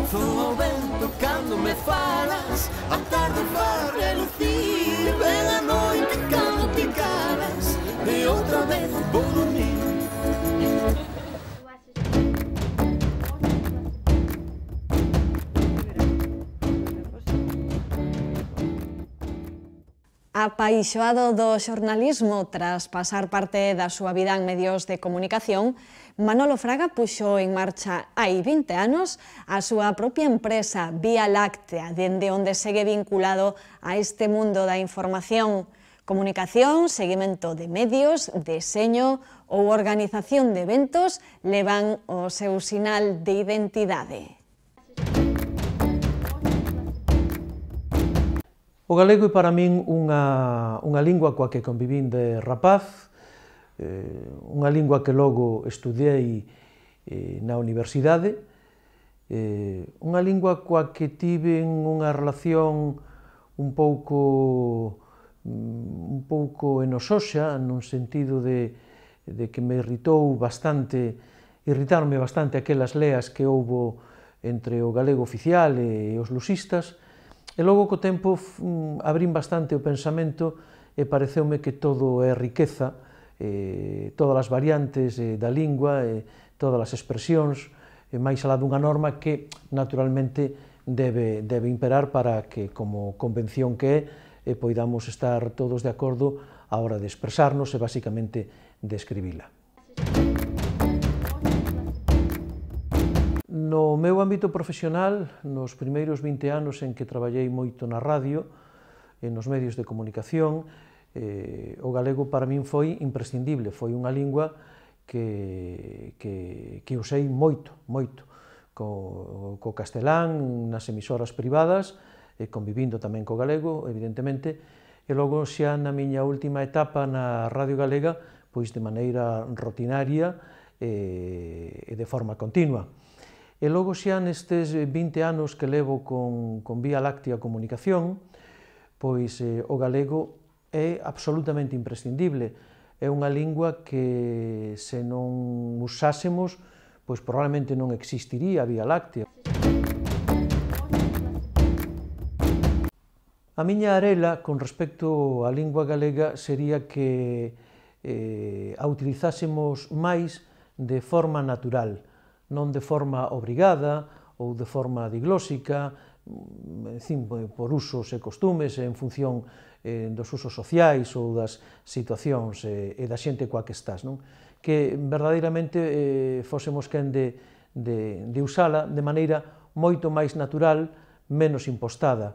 Soa o vento cando me falas, a tarde vai relucir. Ven a noite cando te calas, e outra vez vou dormir. Apaixoado do xornalismo tras pasar parte da súa vida en medios de comunicación, Manolo Fraga puxo en marcha hai 20 anos a súa propia empresa Vía Láctea, dende onde segue vinculado a este mundo da información, comunicación, seguimento de medios, deseño ou organización de eventos levan o seu sinal de identidade. O galego é para min unha lingua coa que convivín de rapaz, unha lingua que logo estudei na universidade, unha lingua coa que tiven unha relación un pouco enoxoxa, nun sentido de que me irritarme bastante aquelas leas que houbo entre o galego oficial e os lusistas. E logo, co tempo, abrín bastante o pensamento e pareceume que todo é riqueza, todas as variantes da lingua, todas as expresións, máis alá dunha norma que, naturalmente, debe imperar para que, como convención que é, poidamos estar todos de acordo á hora de expresarnos e, basicamente, de escribila. No meu ámbito profesional, nos primeiros 20 anos en que traballei moito na radio e nos medios de comunicación, o galego para min foi imprescindible, foi unha lingua que usei moito, co castelán nas emisoras privadas, convivindo tamén co galego, evidentemente, e logo xa na miña última etapa na Radio Galega, pois de maneira rutinaria e de forma continua. E logo xa nestes 20 anos que levo con Vía Láctea Comunicación, pois o galego é absolutamente imprescindible. É unha lingua que se non usásemos, pois probablemente non existiría a Vía Láctea. A miña arela con respecto á lingua galega sería que a utilizásemos máis de forma natural, non de forma obrigada ou de forma diglósica, por usos e costumes, en función dos usos sociais ou das situacións e da xente coa que estás, non? Que verdadeiramente fósemos quen de usala de maneira moito máis natural, menos impostada.